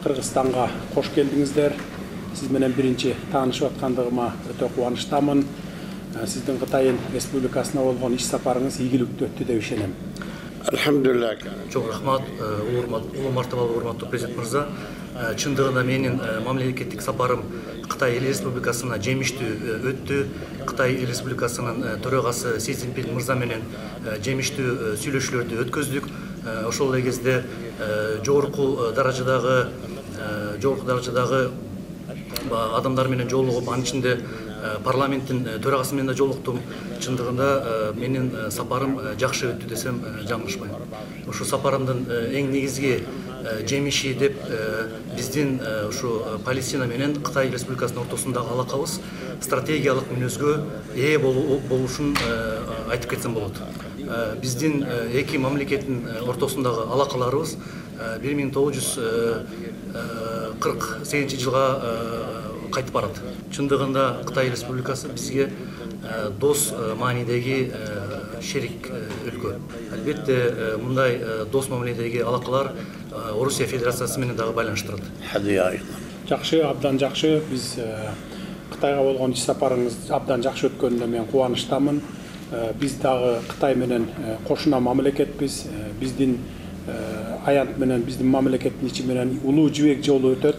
Кыргызстанга кош келдиңиздер. Сиз менен биринчи таанышып аткандыгыма өтө кубанычтамын. Сиздин Кытай Республикасына болгон иш сапарыңыз ийгиликтүү өттү деп ишенем. Алхамдулилlah. Чоң рахмат, улуу мартабалуу урматтуу президент мырза. Чындыгында менин мамлекеттик сапарым Кытай Республикасына жемиштүү өттү. Кытай Республикасынын төрагасы Си Цзиньпин мырза менен жемиштүү сүйлөшүүлөрдү өткөздүк. Ошол эле кезде жогорку даражадагы адамдар менен жолугуп, анын ичинде парламенттин төрагасы менен да жолуктум. Чындыгында менин сапарым жакшы өттү десем жаңылышпайм. Ошо сапарымдын эң негизги жемиши деп биздин ушу Палестина менен Кытай Республикасынын ортосундагы алакабыз стратегиялык мүнөзгө ээ болушун айтып кетсем болот. Биздин эки мамлекеттин ортосундагы алакаларыбыз 1948 жылга кайтып барат. Чындыгында Кытай Республикасы бизге дос маанидеги шерик өлкө. Албетте мындай дос мамиледеги алакалар Орусия Федерациясы менен дагы байланыштырат. Жакшы, абдан жакшы. Биз Кытайга болгон иш сапарыңыз абдан жакшы өткөнүнө мен кубанычтамын. Биз дагы Кытай менен кошуна мамлекетпиз. Биздин аянт менен биздин мамлекеттин ичи менен улуу жибек жолу өтөт.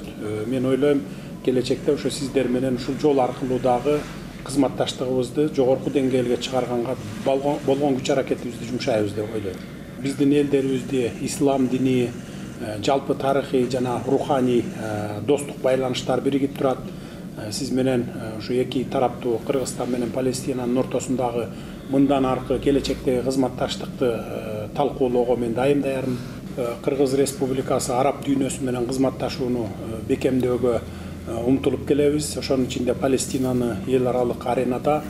Мен ойлойм, келечекте ошо сиздер менен ушул жол аркылуу дагы кызматташтыгыбызды жогорку деңгээлге чыгарганга болгон күч аракетибизди жумшайбыз деп ойлойм. Биздин элдерибизди ислам дини, жалпы тарыхый жана руханий достук байланыштар биригип турат. Сиз менен ушу эки тараптуу Кыргызстан менен Палестинанын ортосундагы мындан аркы келечектеги кызматташтыкты талкуулоого мен дайым даярмын. Кыргыз Республикасы араб дүйнөсү менен кызматташууну бекемдөөгө умтулуп келебиз. Ошонун ичинде Палестинаны эл аралык аренада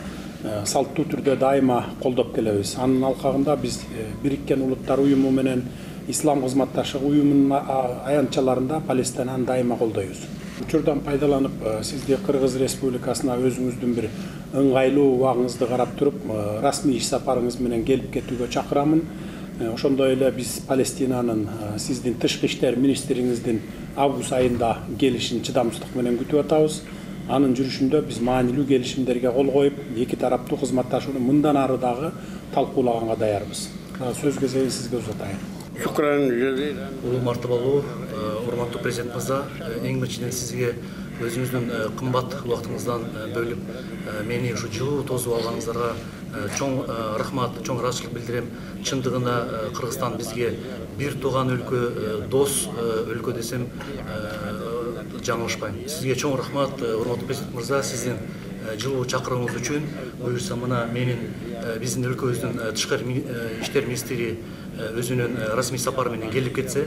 салттуу түрдө дайыма колдоп келебиз. Анын алкагында биз Бириккен Улуттар уюму менен Ислам кызматташтыгы уюмунун аянтчаларында Палестинаны дайыма колдойбуз. Учурдан пайдаланып, сизди Кыргыз Республикасына өзүңүздүн бир ыңгайлуу убагыңызды карап туруп, расмий иш сапарыңыз менен келип кетүүгө чакырамын. Ошондой эле биз Палестинанын сиздин тышкы иштер министриңиздин август айында келишин чыдамсыздык менен күтүп атабыз. Анын жүрүшүндө биз маанилүү келишимдерге кол коюп, эки тараптуу кызматташууну мындан ары дагы талкуулаганга даярбыз. Сөз кезегин сизге узатайын. Улуу мартабалуу урматтуу президент мырза, эң биринчиден сизге өзүңүздүн кымбат убактыңыздан бөлүп мени ушу жылуу тосуп алганыңыздарга чоң рахмат, чоң ыраазычылык билдирем. Чындыгында Кыргызстан бизге бир тууган өлкө, дос өлкө десем жаңылышпайм. Сизге чоң рахмат, урматтуу президент мырза, сиздин жылуу чакырууңуз үчүн. Буюрса мына менин биздин өлкөбүздүн тышкы иштер министри өзүнүн расмий сапары менен келип кетсе,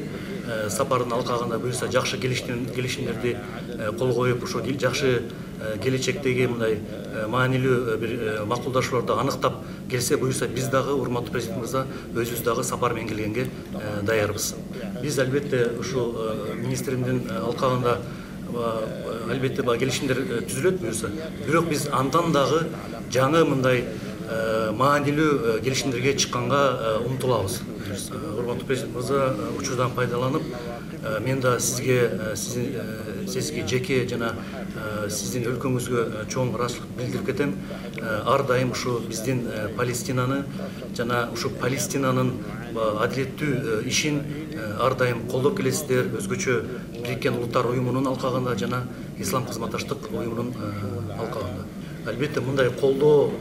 сапардын алкагында буюрса жакшы келишимдерди кол коюп, ошо жакшы келечектеги мындай маанилүү бир макулдашууларды аныктап келсе, буюрса биз дагы урматтуу президент мырза өзүбүз дагы сапар менен келгенге даярбыз. Биз албетте ушул министримдин алкагында албетте келишимдер түзүлөт буюрса, бирок биз андан дагы жаңы мындай маанилүү келишимдерге чыкканга умтулабыз. Урматтуу президент мырза, учурдан пайдаланып, мен да сизге жеке жана сиздин өлкөңүзгө чоң ыраазычылык билдирип кетем. Ар дайым ушу биздин Палестинаны жана ушу Палестинанын адилеттүү ишин ар дайым колдоп келесиздер. Өзгөчө Бириккен Улуттар уюмунун алкагында жана Ислам кызматташтык уюмунун алкагында. Албетте мындай колдоо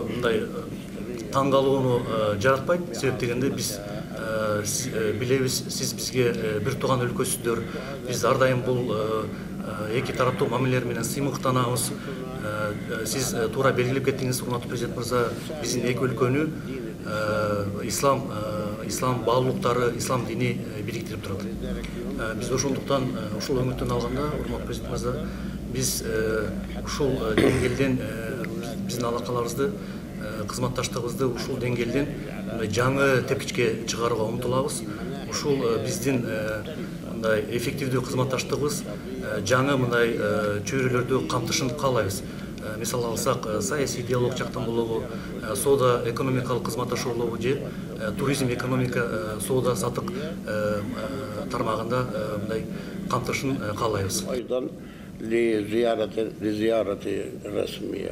мындай таң калууну жаратпайт. Себеп дегенде биз билебиз, сиз бизге бир тууган өлкөсүздөр. Биз ар дайым бул эки тараптуу мамилелер менен сыймыктанабыз. Сиз туура белгилеп кеттиңиз, урматтуу президент мырза, биздин эки өлкөнү ислам баалуулуктары, ислам дини бириктирип турат. Биз ошондуктан ушул өңүттөн алганда, урматтуу президент мырза, биз ушул деңгээлден биздин алакаларыбызды, кызматташтыгыбызды ушул деңгээлден жаңы тепкичке чыгарууга умтулабыз. Ушул биздин мындай эффективдүү кызматташтыгыбыз жаңы мындай чөйрөлөрдү камтышын каалайбыз. мисал алсак, саясий диалог жактан болобу, соода экономикалык кызматташуулугу же туризм, экономика, соода сатык тармагында мындай камтышын каалайбыз. أيضا لزيارة رسمية